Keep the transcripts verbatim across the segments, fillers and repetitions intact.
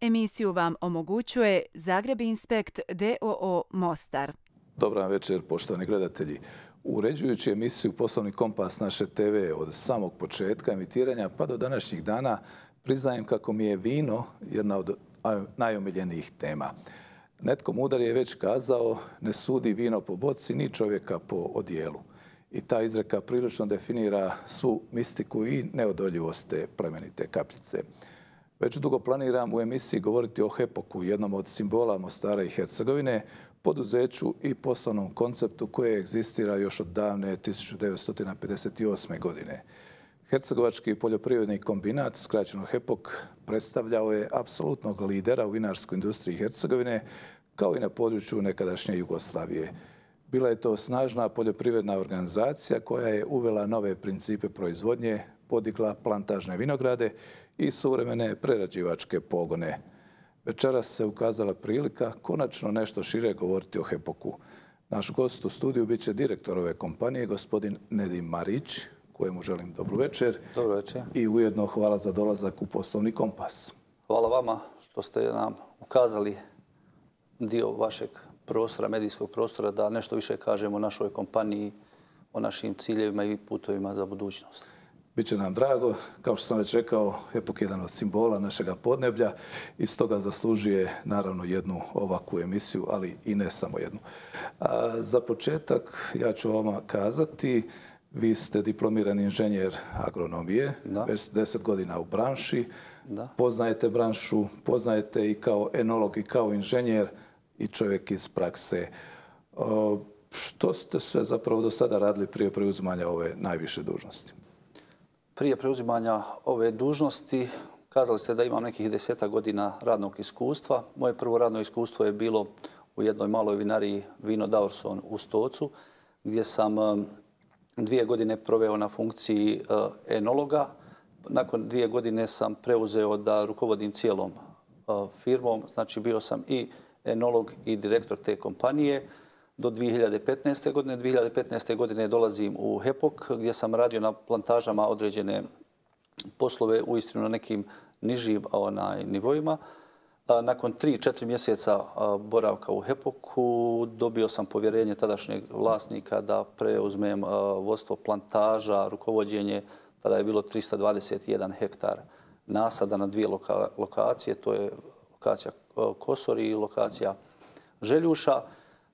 Emisiju vam omogućuje Zagreb Inspekt d o o Mostar. Dobar večer, poštovani gledatelji. Uređujući emisiju Poslovni kompas naše te ve od samog početka emitiranja pa do današnjih dana, priznajem kako mi je vino jedna od najomiljenijih tema. Netko mudar je već kazao, ne sudi vino po boci ni čovjeka po odijelu. I ta izreka prilično definira svu mistiku i neodoljivost te plemenite kapljice. Već dugo planiram u emisiji govoriti o Hepoku, jednom od simbola Mostara i Hercegovine, poduzeću i poslovnom konceptu koje egzistira još od davne tisuću devetsto pedeset osme. godine. Hercegovački poljoprivredni kombinat, skraćeno Hepok, predstavljao je apsolutnog lidera u vinarskoj industriji Hercegovine, kao i na području nekadašnje Jugoslavije. Bila je to snažna poljoprivredna organizacija koja je uvela nove principe proizvodnje, podigla plantažne vinograde i suvremene prerađivačke pogone. Večeras se ukazala prilika konačno nešto šire govoriti o Hepoku. Naš gost u studiju bit će direktor ove kompanije, gospodin Nedim Marić, kojemu želim dobru večer. Dobro večer. I ujedno hvala za dolazak u Poslovni kompas. Hvala vama što ste nam ukazali dio vašeg prostora, medijskog prostora, da nešto više kažemo o našoj kompaniji, o našim ciljevima i putovima za budućnost. Biće nam drago. Kao što sam već rekao, Hepok je jedan od simbola našega podneblja i stoga zaslužuje naravno jednu ovakvu emisiju, ali i ne samo jednu. A za početak ja ću vama kazati, vi ste diplomirani inženjer agronomije, da. Već deset godina u branši. Da. Poznajete branšu, poznajete i kao enolog i kao inženjer i čovjek iz prakse. O, što ste sve zapravo do sada radili prije preuzimanja ove najviše dužnosti? Prije preuzimanja ove dužnosti kazali ste da imam nekih deseta godina radnog iskustva. Moje prvo radno iskustvo je bilo u jednoj maloj vinariji Vino Daurson u Stocu, gdje sam dvije godine proveo na funkciji enologa. Nakon dvije godine sam preuzeo da rukovodim cijelom firmom. Znači bio sam i enolog i direktor te kompanije do dvije hiljade petnaeste. godine. dvije hiljade petnaeste. godine dolazim u Hepok gdje sam radio na plantažama određene poslove uistinu na nekim nižim onaj, nivoima. Nakon tri, četiri mjeseca boravka u Hepoku dobio sam povjerenje tadašnjeg vlasnika da preuzmem vodstvo plantaža, rukovođenje. Tada je bilo trista dvadeset jedan hektar nasada na dvije loka, lokacije. To je lokacija Kosori i lokacija Željuša.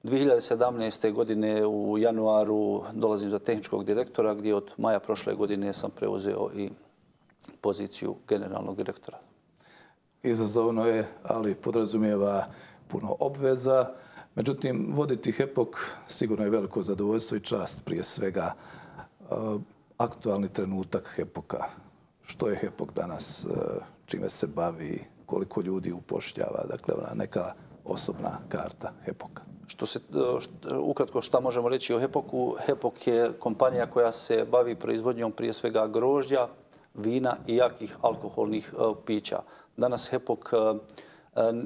dvije hiljade sedamnaeste. godine u januaru dolazim za tehničkog direktora gdje od maja prošle godine sam preuzeo i poziciju generalnog direktora. Izazovno je, ali podrazumijeva puno obveza. Međutim, voditi Hepok sigurno je veliko zadovoljstvo i čast prije svega. Aktualni trenutak Hepoka. Što je Hepok danas, čime se bavi, koliko ljudi upošljava, dakle ona neka osobna karta Hepoka. Što se, što, ukratko šta možemo reći o Hepoku? Hepok je kompanija koja se bavi proizvodnjom prije svega grožđa, vina i jakih alkoholnih uh, pića. Danas Hepok uh,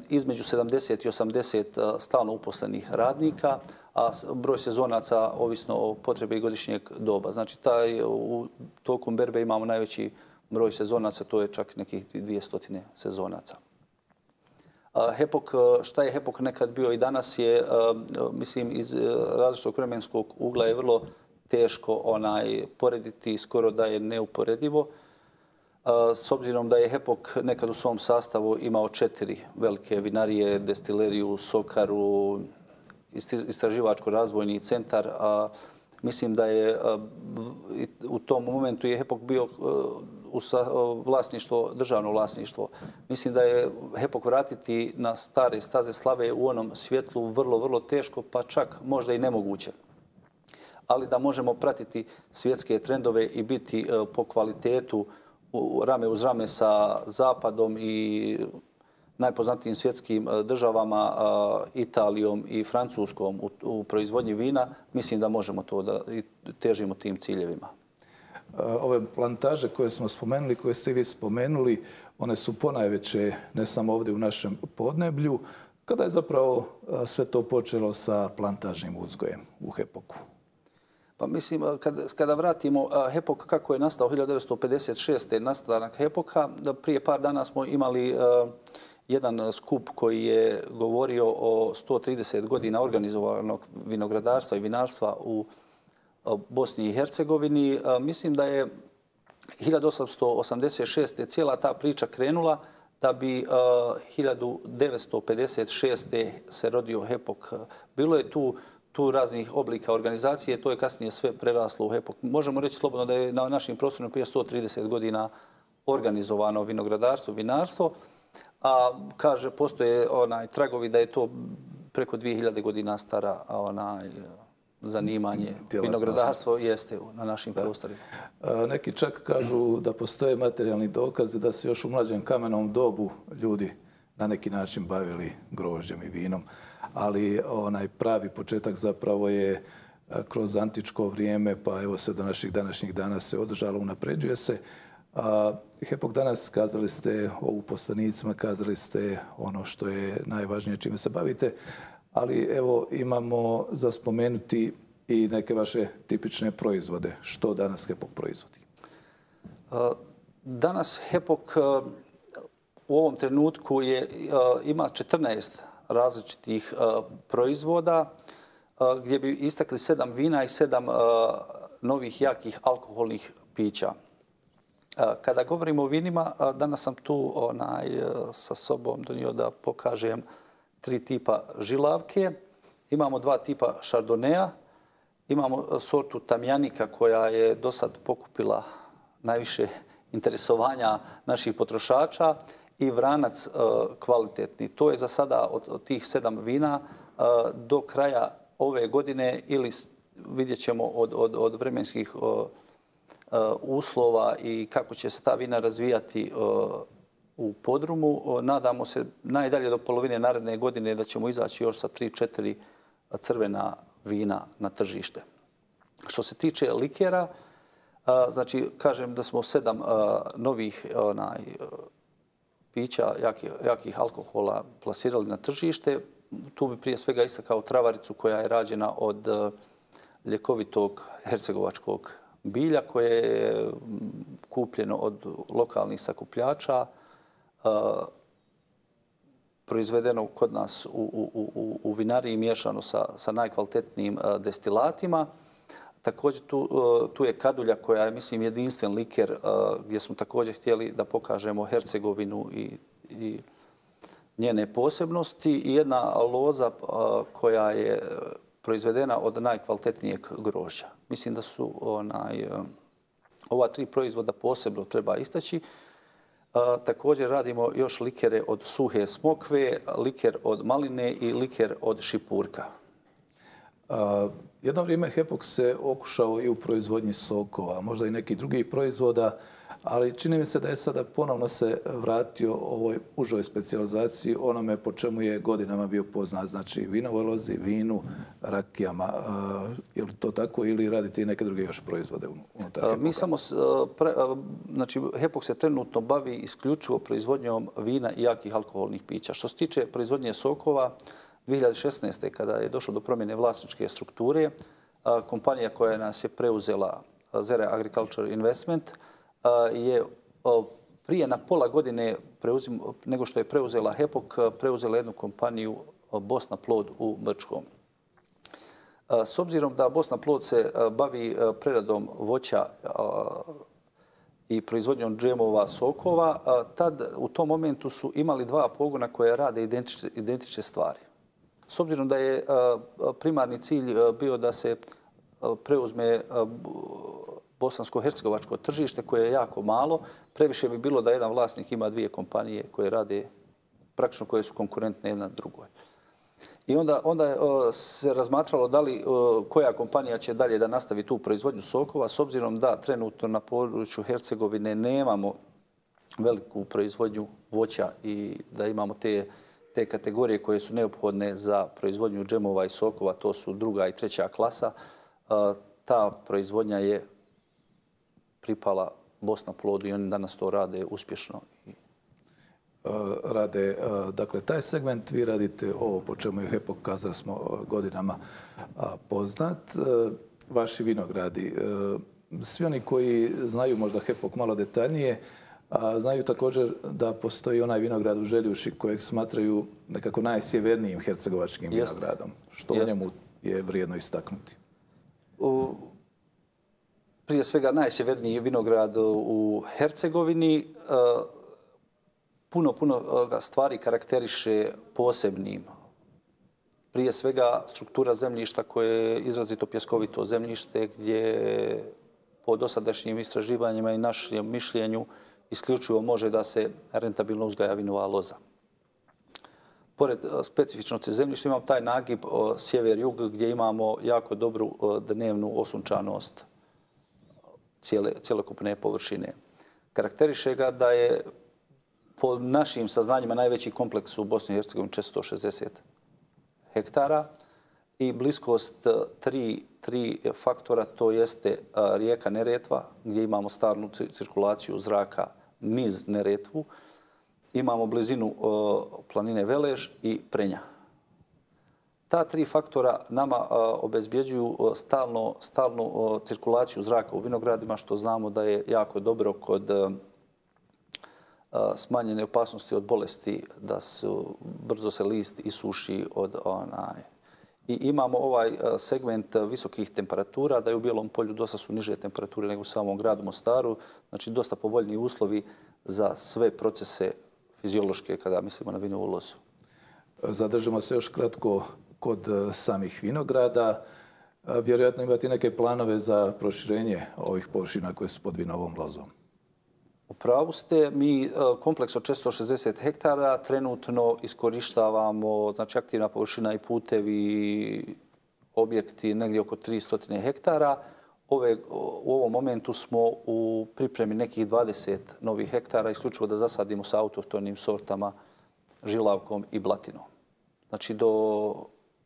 između sedamdeset i osamdeset uh, stalno uposlenih radnika, a broj sezonaca ovisno o potrebi godišnjeg doba. Znači taj, u tokom berbe imamo najveći broj sezonaca, to je čak nekih dvjesto sezonaca. Hepok, šta je Hepok nekad bio i danas je, mislim, iz različitog vremenskog ugla je vrlo teško onaj porediti, skoro da je neuporedivo. S obzirom da je Hepok nekad u svom sastavu imao četiri velike vinarije, destileriju, sokaru, istraživačko-razvojni centar, a mislim da je u tom momentu je Hepok bio u vlasništvo, državno vlasništvo. Mislim da je Hepok vratiti na stare staze slave u onom svjetlu vrlo, vrlo teško, pa čak možda i nemoguće. Ali da možemo pratiti svjetske trendove i biti po kvalitetu rame uz rame sa Zapadom i najpoznatijim svjetskim državama, Italijom i Francuskom u, u proizvodnji vina, mislim da možemo to da težimo tim ciljevima. Ove plantaže koje smo spomenuli, koje ste vi spomenuli, one su ponajveće ne samo ovdje u našem podneblju. Kada je zapravo sve to počelo sa plantažnim uzgojem u Hepoku? Pa mislim, kada, kada vratimo Hepok kako je nastao hiljadu devetsto pedeset šeste. nastanak Hepoka, prije par dana smo imali jedan skup koji je govorio o sto trideset godina organizovanog vinogradarstva i vinarstva u Bosni i Hercegovini. Mislim da je hiljadu osamsto osamdeset šeste. cijela ta priča krenula da bi hiljadu devetsto pedeset šeste. se rodio HEPOK. Bilo je tu tu raznih oblika organizacije, to je kasnije sve preraslo u HEPOK. Možemo reći slobodno da je na našim prostorima prije sto trideset godina organizovano vinogradarstvo, vinarstvo, a kaže, postoje onaj tragovi da je to preko dvije hiljade godina stara onaj zanimanje. Vinogradarstvo jeste na našim da. prostorima. Neki čak kažu da postoje materijalni dokazi da se još u mlađem kamenom dobu ljudi na neki način bavili grožđem i vinom. Ali onaj pravi početak zapravo je kroz antičko vrijeme, pa evo se do naših današnjih dana se održalo, unapređuje se. HEPOK danas, kazali ste o uposlenicima, kazali ste ono što je najvažnije čime se bavite, ali evo imamo za spomenuti i neke vaše tipične proizvode. Što danas HEPOK proizvodi? Danas HEPOK u ovom trenutku je, ima četrnaest različitih uh, proizvoda uh, gdje bi istakli sedam vina i sedam uh, novih jakih alkoholnih pića. Uh, kada govorimo o vinima, uh, danas sam tu onaj, uh, sa sobom donio da pokažem tri tipa žilavke. Imamo dva tipa šardoneja. Imamo uh, sortu tamjanika koja je do sad pokupila najviše interesovanja naših potrošača i vranac uh, kvalitetni. To je za sada od, od tih sedam vina uh, do kraja ove godine ili vidjet ćemo od, od, od vremenskih uh, uh, uslova i kako će se ta vina razvijati uh, u podrumu. Uh, nadamo se najdalje do polovine naredne godine da ćemo izaći još sa tri četiri crvena vina na tržište. Što se tiče likera, uh, znači kažem da smo sedam uh, novih onaj, uh, pića, jakih, jakih alkohola plasirali na tržište. Tu bi prije svega istakao travaricu koja je rađena od ljekovitog hercegovačkog bilja koje je kupljeno od lokalnih sakupljača, proizvedeno kod nas u, u, u, u vinariji miješano sa, sa najkvalitetnijim destilatima. Također tu, tu je kadulja koja je, mislim, jedinstven liker gdje smo također htjeli da pokažemo Hercegovinu i, i njene posebnosti i jedna loza koja je proizvedena od najkvalitetnijeg grožđa. Mislim da su onaj, ova tri proizvoda posebno treba istaći. Također radimo još likere od suhe smokve, liker od maline i liker od šipurka. Uh, jedno vrijeme HEPOK se okušao i u proizvodnji sokova, možda i nekih drugih proizvoda, ali čini mi se da je sada ponovno se vratio ovoj užoj specijalizaciji, onome po čemu je godinama bio poznat, znači vinovoj lozi, vinu, rakijama. Uh, je li to tako ili radite i neke druge još proizvode unutar HEPOK-a? Mi samo, pre, znači HEPOK se trenutno bavi isključivo proizvodnjom vina i jakih alkoholnih pića. Što se tiče proizvodnje sokova, dvije hiljade šesnaeste. kada je došlo do promjene vlasničke strukture, kompanija koja nas je preuzela, Zere Agriculture Investment, je prije na pola godine preuzim, nego što je preuzela HEPOK, preuzela jednu kompaniju Bosna Plod u Brčkom. S obzirom da Bosna Plod se bavi preradom voća i proizvodnjom džemova, sokova, tad u tom momentu su imali dva pogona koje rade identične, identične stvari. S obzirom da je primarni cilj bio da se preuzme bosansko-hercegovačko tržište koje je jako malo, previše bi bilo da jedan vlasnik ima dvije kompanije koje rade, praktično koje su konkurentne jedna drugoj. I onda, onda se razmatralo da li koja kompanija će dalje da nastavi tu proizvodnju sokova, s obzirom da trenutno na području Hercegovine nemamo veliku proizvodnju voća i da imamo te te kategorije koje su neophodne za proizvodnju džemova i sokova, to su druga i treća klasa. Ta proizvodnja je pripala Bosna Plodu i oni danas to rade uspješno. Rade, dakle, taj segment vi radite ovo po čemu je HEPOK, kazali smo, godinama poznat. Vaši vinogradi, svi oni koji znaju možda HEPOK malo detaljnije, A znaju također da postoji onaj vinograd u Željuši kojeg smatraju nekako najsjevernijim hercegovačkim vinogradom. Što u njemu je vrijedno istaknuti? U, prije svega najsjeverniji vinograd u Hercegovini. Puno, puno stvari karakteriše posebnim. Prije svega struktura zemljišta koje je izrazito pjeskovito zemljište gdje po dosadašnjim istraživanjima i našem mišljenju isključivo može da se rentabilno uzgaja vinova loza. Pored specifičnosti zemljišta imamo taj nagib sjever-jug gdje imamo jako dobru dnevnu osunčanost cijele, cijelokupne površine. Karakteriše ga da je po našim saznanjima najveći kompleks u Bosni i Hercegovini četiristo šezdeset hektara i bliskost tri, tri faktora, to jeste rijeka Neretva gdje imamo stalnu cirkulaciju zraka niz Neretvu, imamo blizinu planine Velež i Prenja. Ta tri faktora nama obezbjeđuju stalno, stalnu cirkulaciju zraka u vinogradima, što znamo da je jako dobro kod smanjene opasnosti od bolesti, da su, brzo se list isuši od onaj. I imamo ovaj segment visokih temperatura, da je u Bijelom polju dosta su niže temperature nego u samom gradu Mostaru. Znači dosta povoljni uslovi za sve procese fiziološke kada mislimo na vinovu lozu. Zadržimo se još kratko kod samih vinograda. Vjerojatno imate neke planove za proširenje ovih površina koje su pod vinovom lozom. U pravu ste, mi kompleks od četiristo šezdeset hektara trenutno iskorištavamo, znači aktivna površina i putevi, objekti negdje oko tristo hektara. Ove, u ovom momentu smo u pripremi nekih dvadeset novih hektara, isključivo da zasadimo sa autohtonim sortama, žilavkom i blatinom. Znači do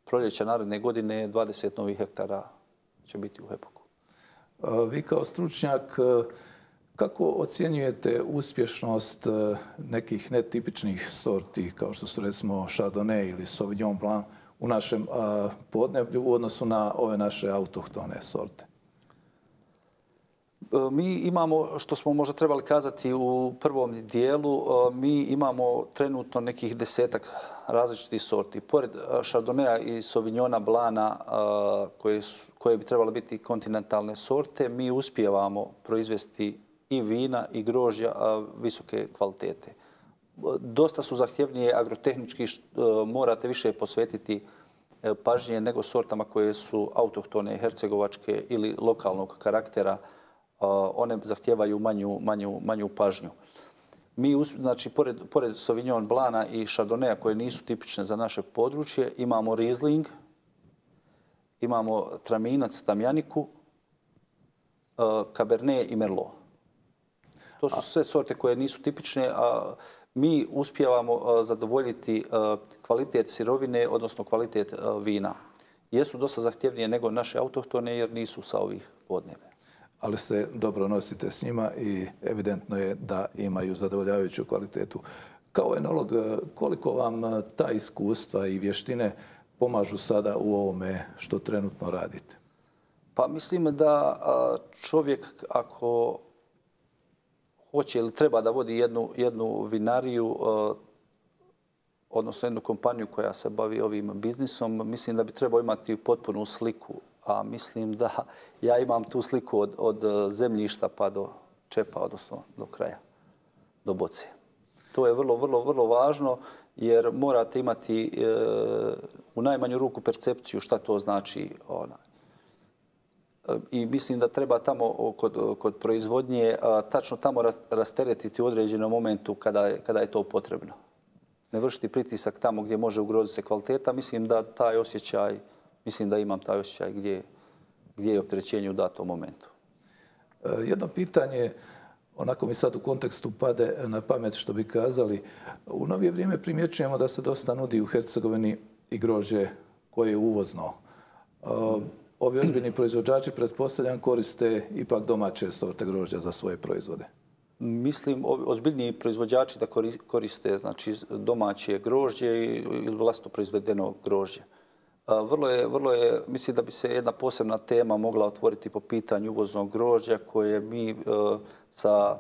proljeća naredne godine dvadeset novih hektara će biti u Hepoku. Vi kao stručnjak, kako ocjenjujete uspješnost nekih netipičnih sorti kao što su recimo Chardonnay ili Sauvignon Blanc u našem podneblju u odnosu na ove naše autohtone sorte? Mi imamo, što smo možda trebali kazati u prvom dijelu, mi imamo trenutno nekih desetak različitih sorti. Pored Chardonnaya i Sauvignona Blana, koje, su, koje bi trebale biti kontinentalne sorte, mi uspijevamo proizvesti i vina i grožđa visoke kvalitete. Dosta su zahtjevnije agrotehnički, morate više posvetiti pažnje nego sortama koje su autohtone, hercegovačke ili lokalnog karaktera. One zahtijevaju manju, manju, manju pažnju. Mi, znači, pored, pored Sauvignon Blana i Chardonnaya koje nisu tipične za naše područje, imamo Riesling, imamo Traminac, Tamjaniku, Cabernet i Merlot. To su sve sorte koje nisu tipične, a mi uspijevamo zadovoljiti kvalitet sirovine, odnosno kvalitet vina. Jesu dosta zahtjevnije nego naše autohtone jer nisu sa ovih podneblja. Ali se dobro nosite s njima i evidentno je da imaju zadovoljavajuću kvalitetu. Kao enolog, koliko vam ta iskustva i vještine pomažu sada u ovome što trenutno radite? Pa mislim da čovjek ako hoće ili treba da vodi jednu, jednu vinariju, odnosno jednu kompaniju koja se bavi ovim biznisom, mislim da bi trebao imati potpunu sliku. A mislim da ja imam tu sliku od, od zemljišta pa do čepa, odnosno do kraja, do boce. To je vrlo, vrlo, vrlo važno jer morate imati e, u najmanju ruku percepciju šta to znači. Ona. I mislim da treba tamo kod, kod proizvodnje a, tačno tamo rasteretiti u određenom momentu kada je, kada je to potrebno. Ne vršiti pritisak tamo gdje može ugroziti se kvaliteta. Mislim da taj osjećaj Mislim da imam taj osjećaj gdje, gdje je opterećenje u datom momentu. Jedno pitanje, onako mi sad u kontekstu pade na pamet što bi kazali. U novije vrijeme primjećujemo da se dosta nudi u Hercegovini i grožđe koje je uvozno. Ovi ozbiljni proizvođači, pretpostavljam, koriste ipak domaće sorte grožđa za svoje proizvode. Mislim, ozbiljniji proizvođači da koriste znači, domaće grožđe ili vlastno proizvedeno grožđe. Vrlo je, vrlo je, mislim da bi se jedna posebna tema mogla otvoriti po pitanju uvoznog grožđa koje mi e, sa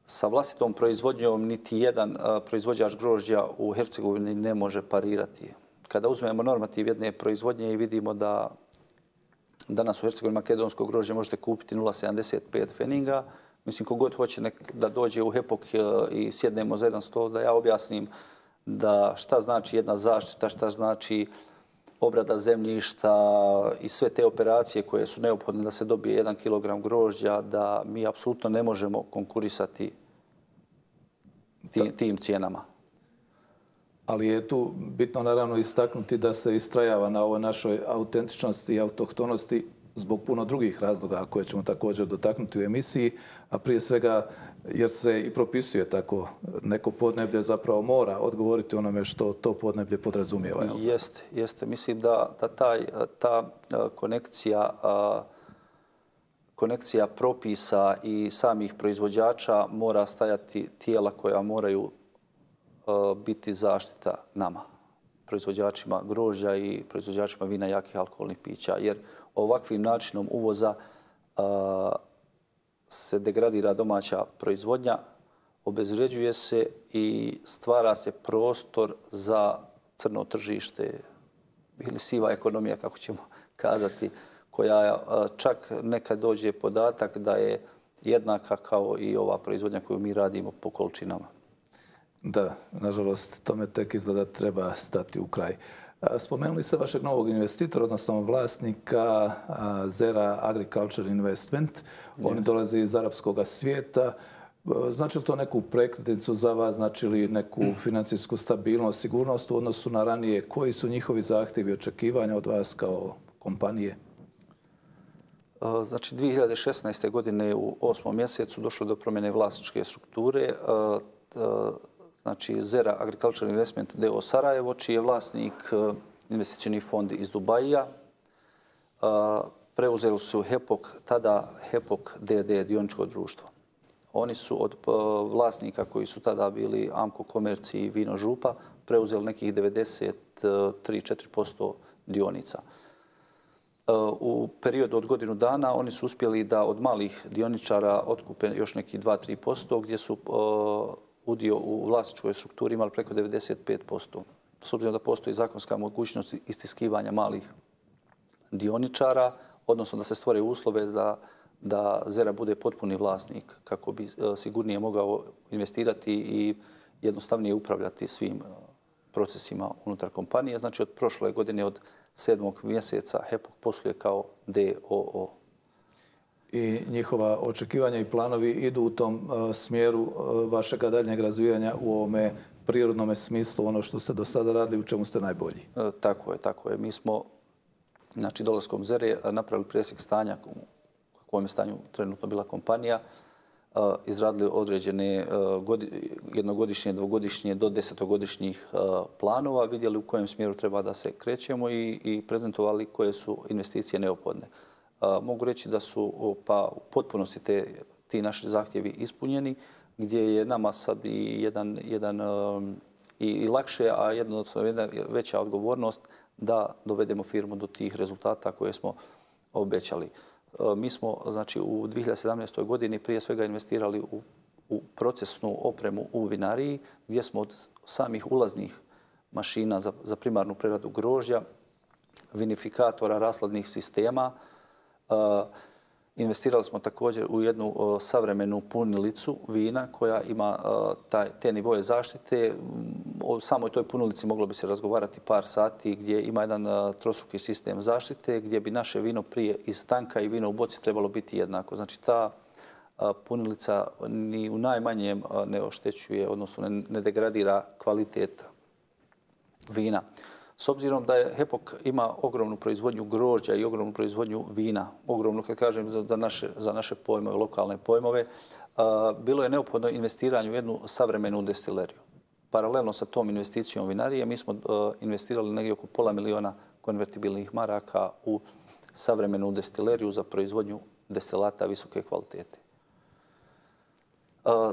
sa vlastitom proizvodnjom niti jedan proizvođač grožđa u Hercegovini ne može parirati. Kada uzmemo normativ jedne proizvodnje i vidimo da danas u Hercegovini makedonsko grožđe možete kupiti nula zarez sedamdeset pet feninga, mislim, kogod hoće da dođe u Hepok i sjednemo za jedan stol, da ja objasnim da šta znači jedna zaštita, šta znači obrada zemljišta i sve te operacije koje su neophodne da se dobije jedan kilogram grožđa, da mi apsolutno ne možemo konkurisati tim, tim cijenama. Ali je tu bitno naravno istaknuti da se istrajava na ovoj našoj autentičnosti i autohtonosti zbog puno drugih razloga koje ćemo također dotaknuti u emisiji, a prije svega jer se i propisuje tako neko podneblje zapravo mora odgovoriti onome što to podneblje podrazumijeva. Jeste, jeste. Mislim da, da taj, ta konekcija, konekcija propisa i samih proizvođača mora stajati tijela koja moraju biti zaštita nama, proizvođačima grožđa i proizvođačima vina, jakih alkoholnih pića, jer ovakvim načinom uvoza a, se degradira domaća proizvodnja, obezvređuje se i stvara se prostor za crno tržište ili siva ekonomija, kako ćemo kazati, koja a, čak nekad dođe podatak da je jednaka kao i ova proizvodnja koju mi radimo po količinama. Da, nažalost, tome tek izgleda treba stati u kraj. Spomenuli se vašeg novog investitora, odnosno vlasnika Zera Agriculture Investment. Oni dolaze iz arapskog svijeta. Znači li to neku prekretnicu za vas, znači li neku financijsku stabilnost, sigurnost u odnosu na ranije? Koji su njihovi zahtjevi i očekivanja od vas kao kompanije? Znači, dvije hiljade šesnaeste. godine u osmom mjesecu došlo do promjene vlasničke strukture. Znači, Zera Agriculture Investment D O O Sarajevo, čiji je vlasnik investicioni fond iz Dubaija. Preuzeli su Hepok, tada Hepok D D dioničko društvo. Oni su od vlasnika koji su tada bili Amco Komerci i Vino Župa preuzeli nekih devedeset tri do četiri posto dionica. U periodu od godinu dana oni su uspjeli da od malih dioničara otkupe još neki dva do tri posto, gdje su udio u vlasničkoj strukturi imali preko devedeset pet posto. S obzirom da postoji zakonska mogućnost istiskivanja malih dioničara, odnosno da se stvore uslove da, da Zera bude potpuni vlasnik kako bi sigurnije mogao investirati i jednostavnije upravljati svim procesima unutar kompanije. Znači, od prošle godine, od sedmog mjeseca, Hepok posluje kao D O O. I njihova očekivanja i planovi idu u tom uh, smjeru uh, vašeg daljnjeg razvijanja u ovome prirodnom smislu, ono što ste do sada radili, u čemu ste najbolji? E, tako je, tako je. Mi smo, znači, dolaskom Zere napravili presjek stanja u kakvom je stanju trenutno bila kompanija, uh, izradili određene uh, godi, jednogodišnje, dvogodišnje do desetogodišnjih uh, planova, vidjeli u kojem smjeru treba da se krećemo i, i prezentovali koje su investicije neophodne. Uh, mogu reći da su pa u potpunosti te, ti naši zahtjevi ispunjeni, gdje je nama sad i jedan, jedan um, i, i lakše, a jednostavno jedna veća odgovornost da dovedemo firmu do tih rezultata koje smo obećali. Uh, mi smo, znači, u dvije hiljade sedamnaestoj. godini prije svega investirali u, u procesnu opremu u vinariji, gdje smo od samih ulaznih mašina za, za primarnu preradu grožđa, vinifikatora, rasladnih sistema. Uh, investirali smo također u jednu uh, savremenu punilicu vina koja ima uh, taj, te nivoje zaštite. O samoj toj punilici moglo bi se razgovarati par sati, gdje ima jedan uh, trostruki sistem zaštite gdje bi naše vino prije iz tanka i vino u boci trebalo biti jednako. Znači, ta uh, punilica ni u najmanjem uh, ne oštećuje, odnosno ne, ne degradira kvalitet vina. S obzirom da je Hepok ima ogromnu proizvodnju grožđa i ogromnu proizvodnju vina, ogromnu, kad kažem, za, za, naše, za naše pojmove, lokalne pojmove, a, bilo je neophodno investiranje u jednu savremenu destileriju. Paralelno sa tom investicijom vinarije mi smo a, investirali negdje oko pola miliona konvertibilnih maraka u savremenu destileriju za proizvodnju destilata visoke kvalitete.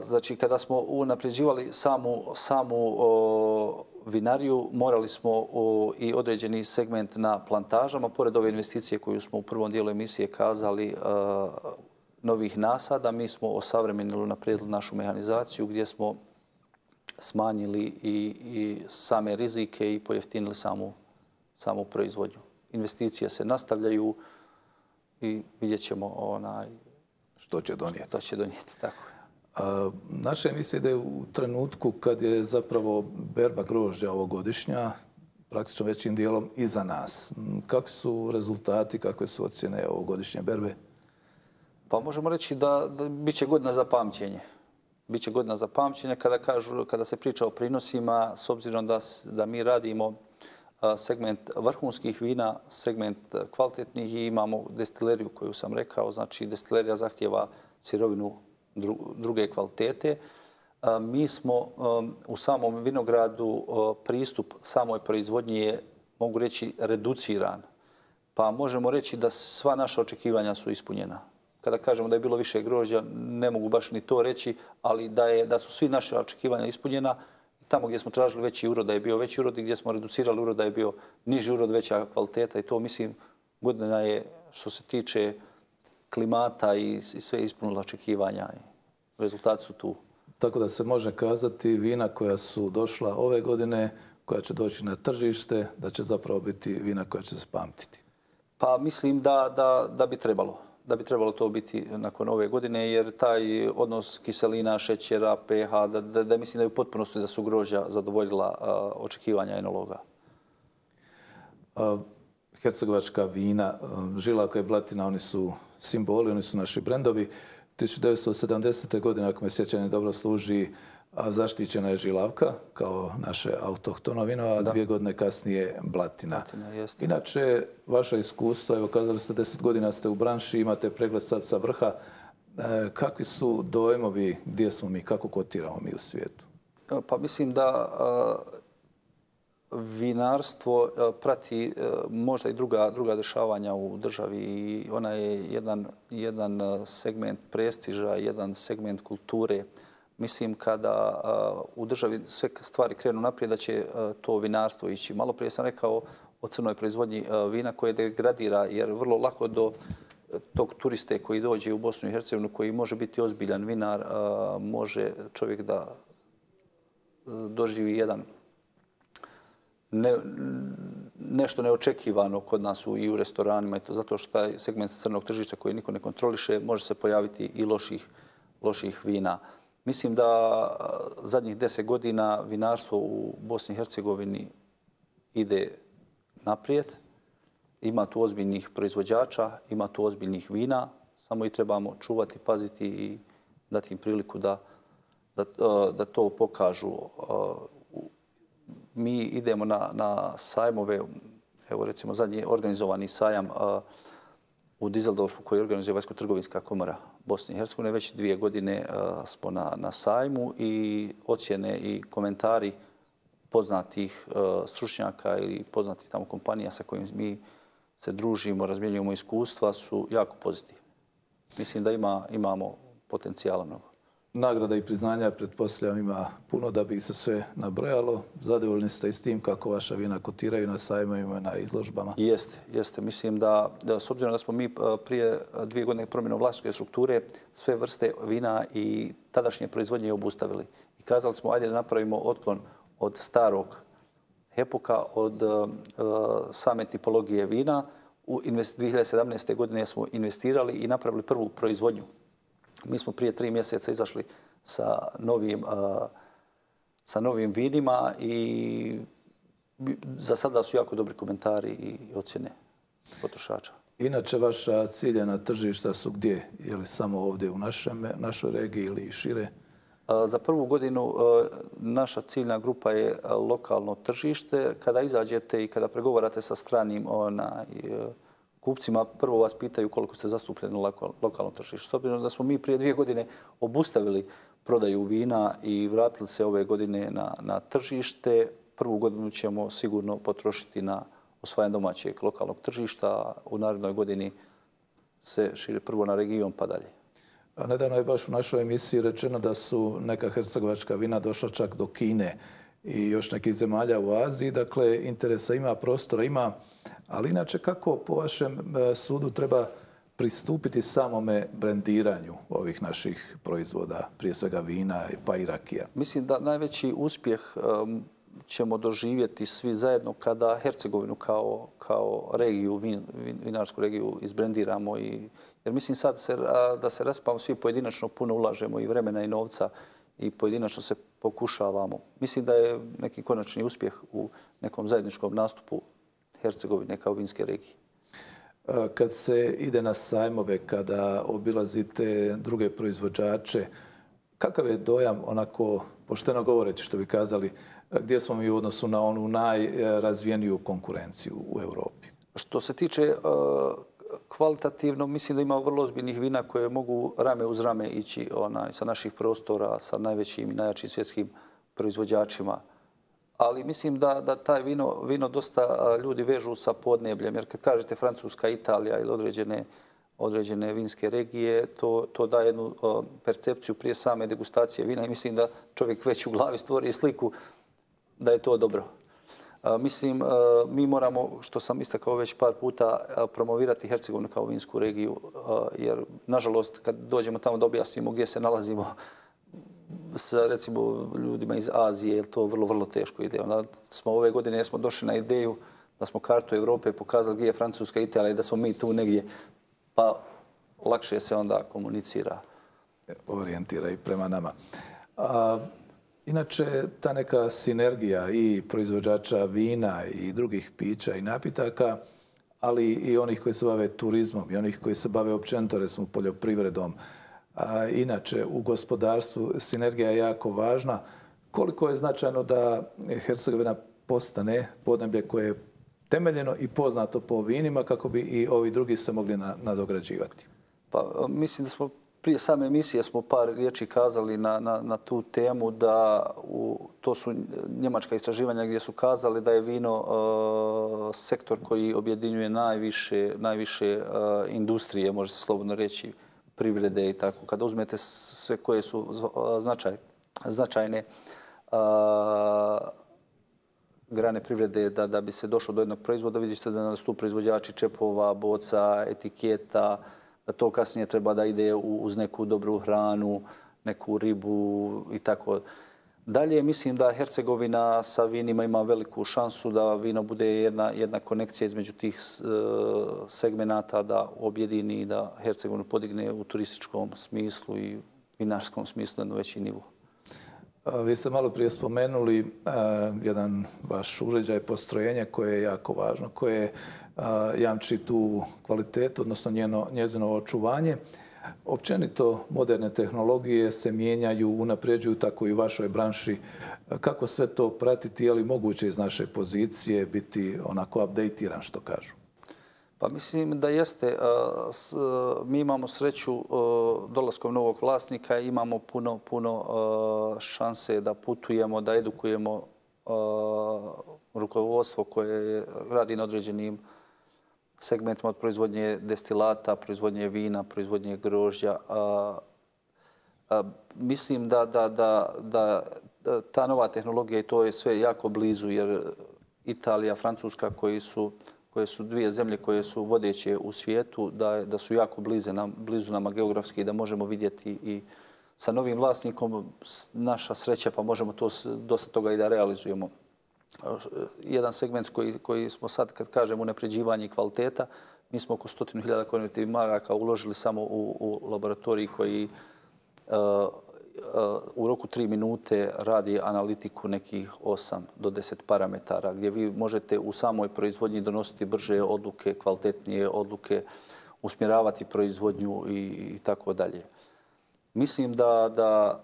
Znači, kada smo unapređivali samu, samu o, vinariju, morali smo o, i određeni segment na plantažama. Pored ove investicije koju smo u prvom dijelu emisije kazali, a, novih nasada. Mi smo osavremenili, unaprijedili našu mehanizaciju gdje smo smanjili i, i same rizike i pojeftinili samu, samu proizvodnju. Investicije se nastavljaju i vidjet ćemo onaj, što će donijeti. Što će donijeti, tako je. A, naša emisija ide u trenutku kad je zapravo berba grožđa ovogodišnja praktično većim dijelom iza nas. Kakvi su rezultati, kakve su ocjene ovogodišnje berbe? Pa možemo reći da, da bit će godina za pamćenje. Biće godina za pamćenje kada, kažu, kada se priča o prinosima, s obzirom da, da mi radimo segment vrhunskih vina, segment kvalitetnih i imamo destileriju koju sam rekao. Znači, destilerija zahtjeva sirovinu druge kvalitete. Mi smo u samom vinogradu pristup samoj proizvodnji je, mogu reći, reduciran. Pa možemo reći da sva naša očekivanja su ispunjena. Kada kažemo da je bilo više grožđa, ne mogu baš ni to reći, ali da, je, da su svi naše očekivanja ispunjena. Tamo gdje smo tražili veći urod, da je bio veći urod i gdje smo reducirali urod, da je bio niži urod, veća kvaliteta. I to, mislim, godina je, što se tiče klimata i, i sve ispunila očekivanja. I rezultati su tu. Tako da se može kazati vina koja su došla ove godine, koja će doći na tržište, da će zapravo biti vina koja će se pamtiti. Pa mislim da, da, da bi trebalo. Da bi trebalo to biti nakon ove godine, jer taj odnos kiselina, šećera, pH, da, da, da mislim da je u potpunosti da su grožđa zadovoljila a, očekivanja enologa. A, hercegovačka vina, Žilavka i Blatina, oni su simboli, oni su naši brendovi. tisuću devetsto sedamdesete. godine, ako me sjećanje dobro služi, zaštićena je Žilavka kao naše autohtono vino, a da. dvije godine kasnije Blatina. Blatina Inače, vaša iskustva, evo kazali ste deset godina ste u branši, imate pregled sad sa vrha. E, kakvi su dojmovi, gdje smo mi, kako kotiramo mi u svijetu? Pa mislim da a, vinarstvo a, prati a, možda i druga, druga dešavanja u državi i ona je jedan, jedan segment prestiža, jedan segment kulture. Mislim, kada uh, u državi sve stvari krenu naprijed, da će uh, to vinarstvo ići. Malo prije sam rekao o crnoj proizvodnji uh, vina koje degradira, jer vrlo lako do tog turiste koji dođe u Bosnu i Hercegovinu, koji može biti ozbiljan vinar, uh, može čovjek da uh, doživi jedan ne, nešto neočekivano kod nas u, i u restoranima. I to zato što taj segment crnog tržišta koji niko ne kontroliše, može se pojaviti i loših, loših vina. Mislim da zadnjih deset godina vinarstvo u Bosni i Hercegovini ide naprijed. Ima tu ozbiljnih proizvođača, ima tu ozbiljnih vina. Samo i trebamo čuvati, paziti i dati im priliku da, da, da to pokažu. Mi idemo na, na sajmove, evo recimo zadnji organizovani sajam u Dizeldorfu koji organizuje Vanjsko-trgovinska komora Bosne i Hercegovine. Već dvije godine uh, smo na, na sajmu i ocjene i komentari poznatih uh, stručnjaka ili poznatih tamo kompanija sa kojim mi se družimo, razmjenjujemo iskustva su jako pozitivni. Mislim da ima, imamo potencijala mnogo. Nagrada i priznanja, pretpostavljam, ima puno da bi se sve nabrojalo. Zadovoljni ste i s tim kako vaša vina kotiraju na sajmovima, na izložbama? Jeste, jeste. Mislim da, da s obzirom da smo mi prije dvije godine promjenom vlasničke strukture sve vrste vina i tadašnje proizvodnje obustavili. I kazali smo, ajde da napravimo otklon od starog epoka, od uh, same tipologije vina. U dvije hiljade sedamnaeste. godine smo investirali i napravili prvu proizvodnju. Mi smo prije tri mjeseca izašli sa novim, uh, sa novim vinima i za sada su jako dobri komentari i ocjene potrošača. Inače, vaša ciljana tržišta su gdje? Je li samo ovdje u našem, našoj regiji ili šire? Uh, za prvu godinu uh, naša ciljna grupa je lokalno tržište. Kada izađete i kada pregovarate sa stranim onaj, uh, kupcima, prvo vas pitaju koliko ste zastupljeni na lokalnom tržištu. S obzirom da smo mi prije dvije godine obustavili prodaju vina i vratili se ove godine na, na tržište, prvu godinu ćemo sigurno potrošiti na osvajanje domaćeg lokalnog tržišta. U narednoj godini se šire prvo na region pa dalje. A nedavno je baš u našoj emisiji rečeno da su neka hercegovačka vina došla čak do Kine i još nekih zemalja u Aziji. Dakle, interesa ima, prostora ima. Ali inače, kako po vašem sudu treba pristupiti samome brendiranju ovih naših proizvoda, prije svega vina pa i rakija? Mislim da najveći uspjeh um, ćemo doživjeti svi zajedno kada Hercegovinu kao, kao regiju, vin, vin, vinarsku regiju izbrendiramo. I, jer mislim sad se, a, da se raspamo svi pojedinačno, puno ulažemo i vremena i novca i pojedinačno se pokušavamo. Mislim da je neki konačni uspjeh u nekom zajedničkom nastupu Hercegovine kao vinske regije. Kad se ide na sajmove, kada obilazite druge proizvođače, kakav je dojam, onako pošteno govoreći što bi kazali, gdje smo mi u odnosu na onu najrazvijeniju konkurenciju u Europi? Što se tiče uh, kvalitativno, mislim da ima vrlo ozbiljnih vina koje mogu rame uz rame ići onaj, sa naših prostora, sa najvećim i najjačim svjetskim proizvođačima. Ali mislim da, da taj vino, vino dosta ljudi vežu sa podnebljem. Jer kad kažete Francuska, Italija ili određene, određene vinske regije, to, to daje jednu uh, percepciju prije same degustacije vina i mislim da čovjek već u glavi stvori sliku da je to dobro. Uh, mislim, uh, mi moramo, što sam istakao već par puta, uh, promovirati Hercegovinu kao vinsku regiju. Uh, jer, nažalost, kad dođemo tamo da objasnimo gdje se nalazimo, sa recimo ljudima iz Azije, jer to vrlo, vrlo teško ide. Onda smo ove godine smo došli na ideju da smo kartu Evrope pokazali gdje je Francuska, Italija i da smo mi tu negdje, pa lakše se onda komunicira. Orijentira i prema nama. A, inače, ta neka sinergija i proizvođača vina i drugih pića i napitaka, ali i onih koji se bave turizmom i onih koji se bave općenito, recimo, poljoprivredom, a inače u gospodarstvu sinergija je jako važna. Koliko je značajno da Hercegovina postane podneblje koje je temeljeno i poznato po vinima kako bi i ovi drugi se mogli nadograđivati? Pa mislim da smo prije same emisije smo par riječi kazali na, na, na tu temu da u, to su njemačka istraživanja gdje su kazali da je vino uh, sektor koji objedinjuje najviše, najviše uh, industrije, može se slobodno reći, privrede i tako. Kada uzmete sve koje su značaj, značajne a, grane privrede da, da bi se došlo do jednog proizvoda, vidite da su tu proizvođači čepova, boca, etiketa, da to kasnije treba da ide uz neku dobru hranu, neku ribu i tako. Dalje, mislim da Hercegovina sa vinima ima veliku šansu da vino bude jedna, jedna konekcija između tih uh, segmenata, da objedini i da Hercegovinu podigne u turističkom smislu i vinarskom smislu na veći nivo. Vi ste malo prije spomenuli uh, jedan vaš uređaj, postrojenje koje je jako važno, koje uh, jamči tu kvalitetu, odnosno njeno, njezino očuvanje. Općenito moderne tehnologije se mijenjaju, unapređuju tako i u vašoj branši. Kako sve to pratiti? Je li moguće iz naše pozicije biti onako updateiran, što kažu? Pa mislim da jeste. Mi imamo sreću dolaskom novog vlasnika, imamo puno, puno šanse da putujemo, da edukujemo rukovodstvo koje radi na određenim segmentima od proizvodnje destilata, proizvodnje vina, proizvodnje grožđa. A, a, mislim da, da, da, da ta nova tehnologija i to je sve jako blizu, jer Italija, Francuska, koji su, koje su dvije zemlje koje su vodeće u svijetu, da, da su jako blize nam, blizu nama geografski i da možemo vidjeti i sa novim vlasnikom naša sreća, pa možemo to dosta toga i da realizujemo. Jedan segment koji, koji smo sad, kad kažemo unapređivanje kvaliteta, mi smo oko stotinu hiljada konvertivnih maraka uložili samo u, u laboratoriji koji uh, uh, u roku tri minute radi analitiku nekih osam do deset parametara, gdje vi možete u samoj proizvodnji donositi brže odluke, kvalitetnije odluke, usmjeravati proizvodnju i, i tako dalje. Mislim da, da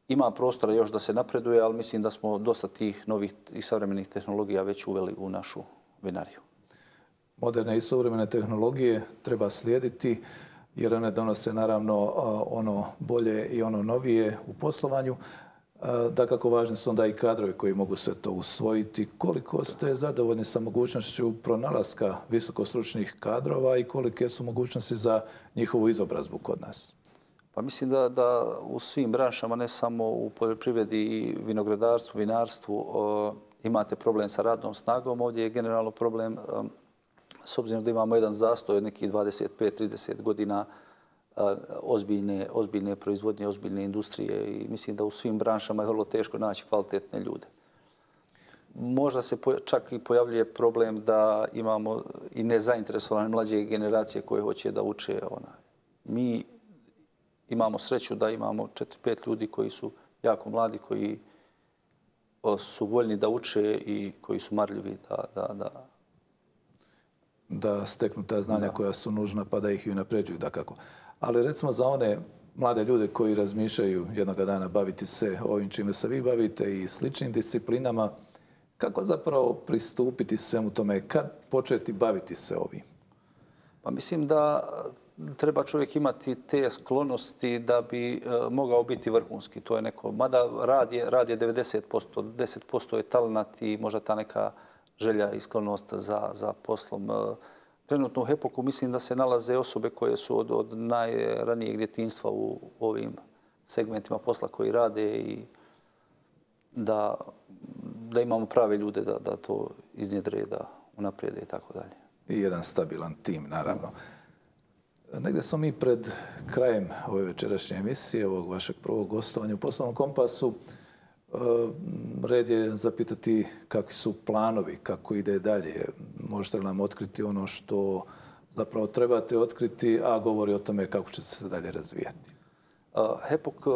ima prostora još da se napreduje, ali mislim da smo dosta tih novih i savremenih tehnologija već uveli u našu vinariju. Moderne i savremene tehnologije treba slijediti jer one donose naravno ono bolje i ono novije u poslovanju. Dakako važni su onda i kadrovi koji mogu sve to usvojiti. Koliko ste zadovoljni sa mogućnošću pronalaska visokostručnih kadrova i kolike su mogućnosti za njihovu izobrazbu kod nas? Pa mislim da, da u svim branšama, ne samo u poljoprivredi i vinogradarstvu, vinarstvu, o, imate problem sa radnom snagom. Ovdje je generalno problem um, s obzirom da imamo jedan zastoj od nekih dvadeset pet trideset godina ozbiljne, ozbiljne proizvodnje, ozbiljne industrije i mislim da u svim branšama je vrlo teško naći kvalitetne ljude. Možda se čak i pojavljuje problem da imamo i nezainteresovane mlađe generacije koje hoće da uče. Mi imamo sreću da imamo četiri pet ljudi koji su jako mladi, koji su voljni da uče i koji su marljivi da, da, da da steknu ta znanja da. koja su nužna pa da ih i unapređuju dakako. Ali recimo za one mlade ljude koji razmišljaju jednoga dana baviti se ovim čime se vi bavite i sličnim disciplinama, kako zapravo pristupiti svemu tome? Kad početi baviti se ovim? Pa mislim da treba čovjek imati te sklonosti da bi e, mogao biti vrhunski. To je neko, mada rad je, rad je devedeset posto, deset posto je talenat i možda ta neka želja i sklonost za, za poslom. Trenutno u Hepoku mislim da se nalaze osobe koje su od, od najranijeg djetinjstva u ovim segmentima posla koji rade i da, da imamo prave ljude da, da to iznjedre, da unaprijede i tako dalje. I jedan stabilan tim, naravno. Negdje smo mi pred krajem ove večerašnje emisije, ovog vašeg prvog gostovanja u Poslovnom kompasu. Red je zapitati kakvi su planovi, kako ide dalje. Možete li nam otkriti ono što zapravo trebate otkriti, a govori o tome kako će se dalje razvijati? Hepok,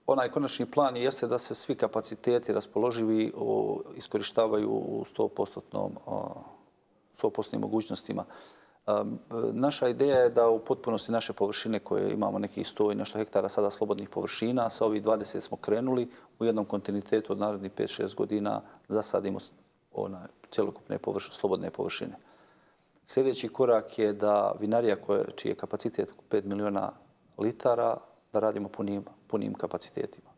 onaj konačni plan jeste da se svi kapaciteti raspoloživi iskorištavaju u sto posto mogućnostima. Naša ideja je da u potpunosti naše površine koje imamo nekih sto i nešto hektara sada slobodnih površina, sa ovih dvadeset smo krenuli u jednom kontinuitetu od narednih pet šest godina zasadimo onaj cjelokupne površine, slobodne površine. Sljedeći korak je da vinarija koje, čiji je kapacitet pet miliona litara, da radimo punim, punim kapacitetima.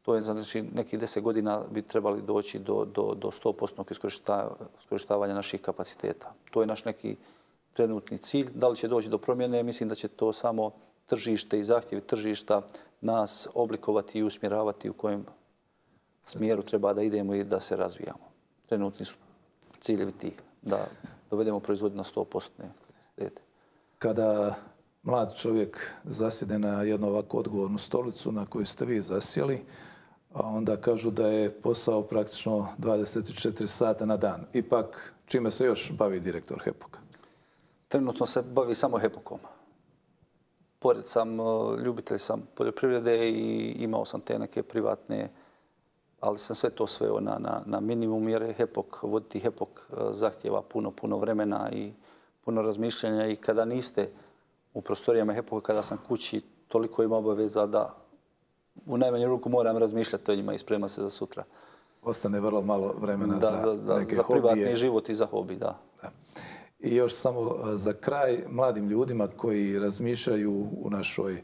To je znači nekih deset godina bi trebali doći do, do, do sto posto iskorištavanja naših kapaciteta. To je naš neki trenutni cilj. Da li će doći do promjene? Mislim da će to samo tržište i zahtjevi tržišta nas oblikovati i usmjeravati u kojem smjeru treba da idemo i da se razvijamo. Trenutni su ciljevi ti da dovedemo proizvodnju na sto posto kapacitete. Kada mlad čovjek zasjede na jednu ovako odgovornu stolicu na koju ste vi zasjeli, a onda kažu da je posao praktično dvadeset četiri sata na dan. Ipak, čime se još bavi direktor Hepoka? Trenutno se bavi samo Hepokom. Pored sam, ljubitelj sam poljoprivrede i imao sam te neke privatne, ali sam sve to sveo na, na, na minimum jer Hepok, voditi Hepok zahtjeva puno, puno vremena i puno razmišljanja i kada niste u prostorijama Hepoka, kada sam kući, toliko ima obaveza da u najmanju ruku moram razmišljati o njima i sprema se za sutra. Ostane vrlo malo vremena da, za, za, za neke za privatni hobije. život i za hobi, da. da. I još samo za kraj, mladim ljudima koji razmišljaju u našoj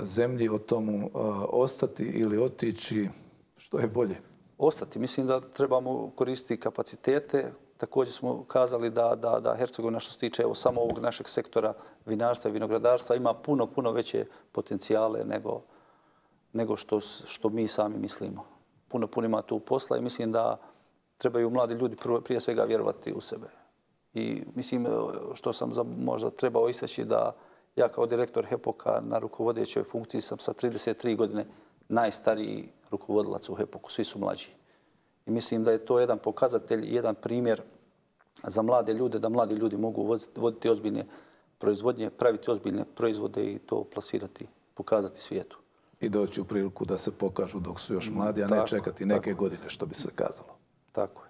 zemlji o tomu ostati ili otići, što je bolje? Ostati. Mislim da trebamo koristiti kapacitete. Također smo kazali da, da, da Hercegovina što se tiče evo, samo ovog našeg sektora vinarstva i vinogradarstva ima puno, puno veće potencijale nego, nego što, što mi sami mislimo. Puno, puno ima tu posla i mislim da trebaju mladi ljudi prije svega vjerovati u sebe. I mislim što sam za, možda trebao istaći da ja kao direktor Hepoka na rukovodećoj funkciji sam sa trideset tri godine najstariji rukovodilac u Hepoku. Svi su mlađi. I mislim da je to jedan pokazatelj i jedan primjer za mlade ljude, da mladi ljudi mogu voditi ozbiljne proizvodnje, praviti ozbiljne proizvode i to plasirati, pokazati svijetu. I doći u priliku da se pokažu dok su još mladi, a ne tako, čekati neke tako. godine, što bi se kazalo. Tako je.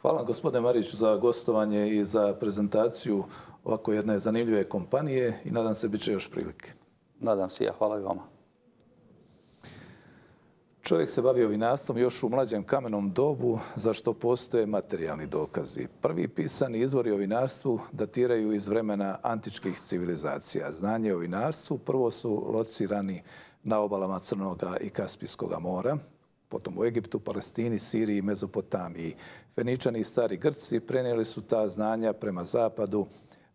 Hvala gospodine Mariću za gostovanje i za prezentaciju ovako jedne zanimljive kompanije i nadam se bit će još prilike. Nadam se ja. Hvala i vama. Čovjek se bavio vinarstvom još u mlađem kamenom dobu, za što postoje materijalni dokazi. Prvi pisani izvori o vinarstvu datiraju iz vremena antičkih civilizacija. Znanje o vinarstvu prvo su locirani na obalama Crnoga i Kaspijskoga mora, potom u Egiptu, Palestini, Siriji i Mezopotamiji. Feničani i stari Grci prenijeli su ta znanja prema zapadu,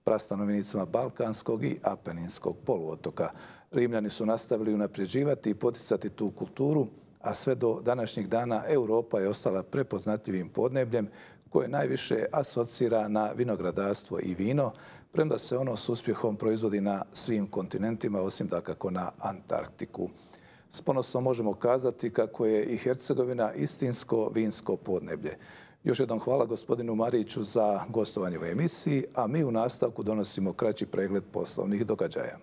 prastanovnicima Balkanskog i Apeninskog poluotoka. Rimljani su nastavili unapređivati i poticati tu kulturu, a sve do današnjih dana Europa je ostala prepoznatljivim podnebljem koje najviše asocira na vinogradarstvo i vino, premda se ono s uspjehom proizvodi na svim kontinentima, osim dakako na Antarktiku. S ponosom možemo kazati kako je i Hercegovina istinsko vinsko podneblje. Još jednom hvala gospodinu Mariću za gostovanje u emisiji, a mi u nastavku donosimo kraći pregled poslovnih događaja.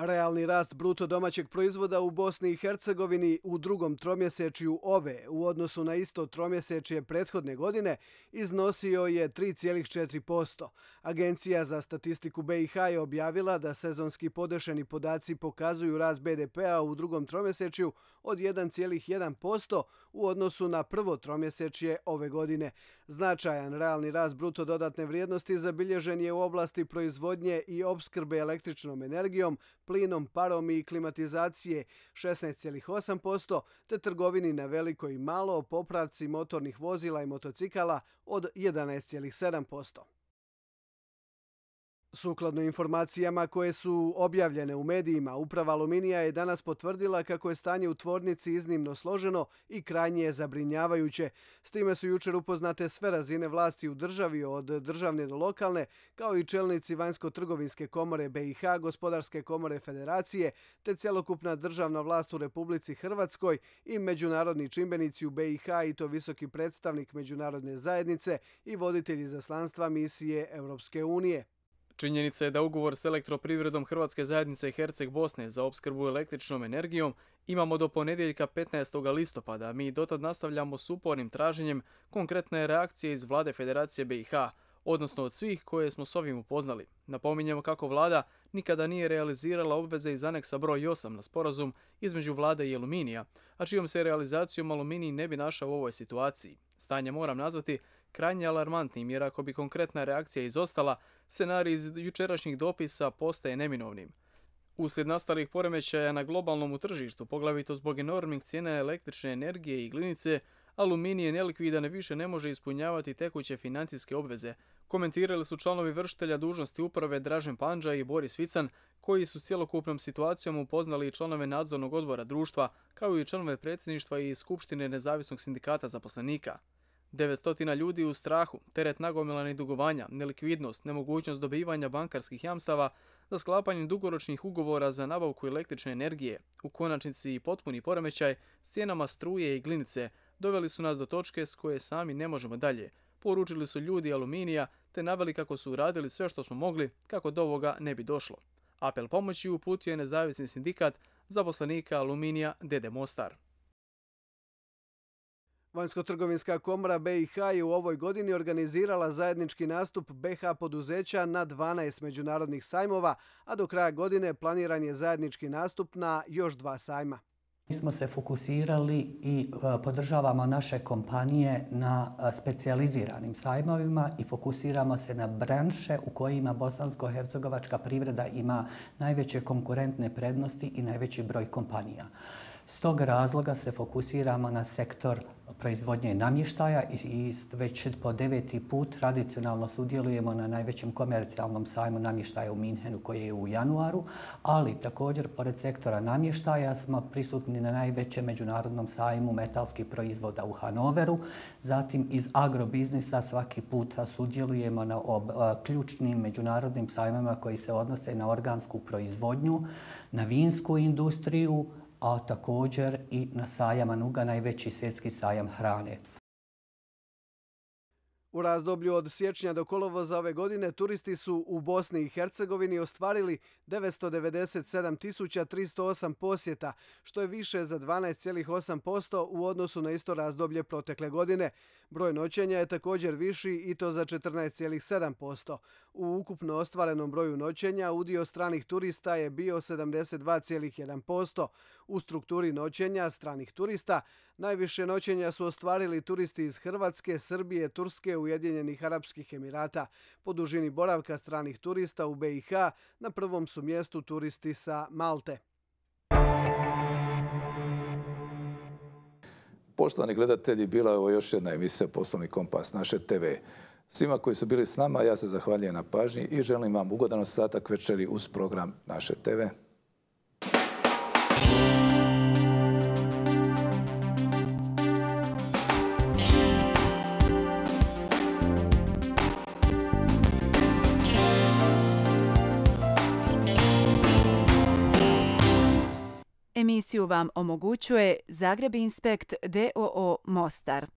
Realni rast bruto domaćeg proizvoda u Bosni i Hercegovini u drugom tromjesečju ove u odnosu na isto tromjesečje prethodne godine iznosio je tri zarez četiri posto. Agencija za statistiku B i H je objavila da sezonski podešeni podaci pokazuju rast be de pea u drugom tromjesečju od jedan zarez jedan posto u odnosu na prvo tromjesečje ove godine. Značajan realni rast bruto dodatne vrijednosti zabilježen je u oblasti proizvodnje i opskrbe električnom energijom, plinom, parom i klimatizacije šesnaest zarez osam posto, te trgovini na veliko i malo, popravci motornih vozila i motocikala od jedanaest zarez sedam posto. Sukladno informacijama koje su objavljene u medijima, Uprava Aluminija je danas potvrdila kako je stanje u tvornici iznimno složeno i krajnje zabrinjavajuće. S time su jučer upoznate sve razine vlasti u državi, od državne do lokalne, kao i čelnici Vanjsko-trgovinske komore be i ha, Gospodarske komore Federacije, te cjelokupna državna vlast u Republici Hrvatskoj i međunarodni čimbenici u be i ha, i to visoki predstavnik međunarodne zajednice i voditelji izaslanstva misije Europske unije. Činjenica je da ugovor s elektroprivredom Hrvatske zajednice Herceg Bosne za opskrbu električnom energijom imamo do ponedjeljka petnaestog listopada. Mi dotad nastavljamo s upornim traženjem konkretne reakcije iz vlade Federacije be i ha, odnosno od svih koje smo s ovim upoznali. Napominjemo kako vlada nikada nije realizirala obveze iz aneksa broj osam na sporazum između vlade i Aluminija, a čijom se realizacijom Aluminij ne bi našao u ovoj situaciji. Stanje moram nazvati krajnje alarmantnim, jer ako bi konkretna reakcija izostala, scenarij iz jučerašnjih dopisa postaje neminovnim. Uslijed nastalih poremećaja na globalnom tržištu, poglavito zbog enormnih cijena električne energije i glinice, Aluminij je nelikvidan i više ne može ispunjavati tekuće financijske obveze, komentirali su članovi vršitelja dužnosti uprave Dražen Pandža i Boris Vican, koji su cjelokupnom situacijom upoznali i članove nadzornog odbora društva, kao i članove predsjedništva i Skupštine Nezavisnog sindikata zaposlenika. devetsto ljudi u strahu, teret nagomilanih dugovanja, nelikvidnost, nemogućnost dobivanja bankarskih jamstava za sklapanje dugoročnih ugovora za nabavku električne energije, u konačnici i potpuni poremećaj s cijenama struje i glinice, doveli su nas do točke s koje sami ne možemo dalje, poručili su ljudi Aluminija te naveli kako su uradili sve što smo mogli kako do ovoga ne bi došlo. Apel pomoći uputio je Nezavisni sindikat zaposlenika Aluminija de de Mostar. Vanjsko-trgovinska komora be i ha je u ovoj godini organizirala zajednički nastup be ha poduzeća na dvanaest međunarodnih sajmova, a do kraja godine planiran je zajednički nastup na još dva sajma. Mi smo se fokusirali i podržavamo naše kompanije na specijaliziranim sajmovima i fokusiramo se na branše u kojima bosansko-hercegovačka privreda ima najveće konkurentne prednosti i najveći broj kompanija. S tog razloga se fokusiramo na sektor proizvodnje namještaja i već po deveti put tradicionalno sudjelujemo na najvećem komercijalnom sajmu namještaja u Minhenu koji je u januaru, ali također pored sektora namještaja smo prisutni na najvećem međunarodnom sajmu metalskih proizvoda u Hanoveru. Zatim iz agrobiznisa svaki puta sudjelujemo na ključnim međunarodnim sajmama koji se odnose na organsku proizvodnju, na vinsku industriju, a također i na sajam Anuga, najveći svjetski sajam hrane. U razdoblju od siječnja do kolovoza ove godine turisti su u Bosni i Hercegovini ostvarili devetsto devedeset sedam tisuća tristo osam posjeta, što je više za dvanaest zarez osam posto u odnosu na isto razdoblje protekle godine. Broj noćenja je također viši i to za četrnaest zarez sedam posto. U ukupno ostvarenom broju noćenja udio stranih turista je bio sedamdeset dva zarez jedan posto. U strukturi noćenja stranih turista najviše noćenja su ostvarili turisti iz Hrvatske, Srbije, Turske, Ujedinjenih Arapskih Emirata. Po dužini boravka stranih turista u be i ha na prvom su mjestu turisti sa Malte. Poštovani gledatelji, bila je ovo još jedna emisija Poslovni kompas naše te ve. Svima koji su bili s nama, ja se zahvaljujem na pažnji i želim vam ugodan ostatak večeri uz program naše te ve. Emisiju vam omogućuje Zagreb Inspekt d o o Mostar.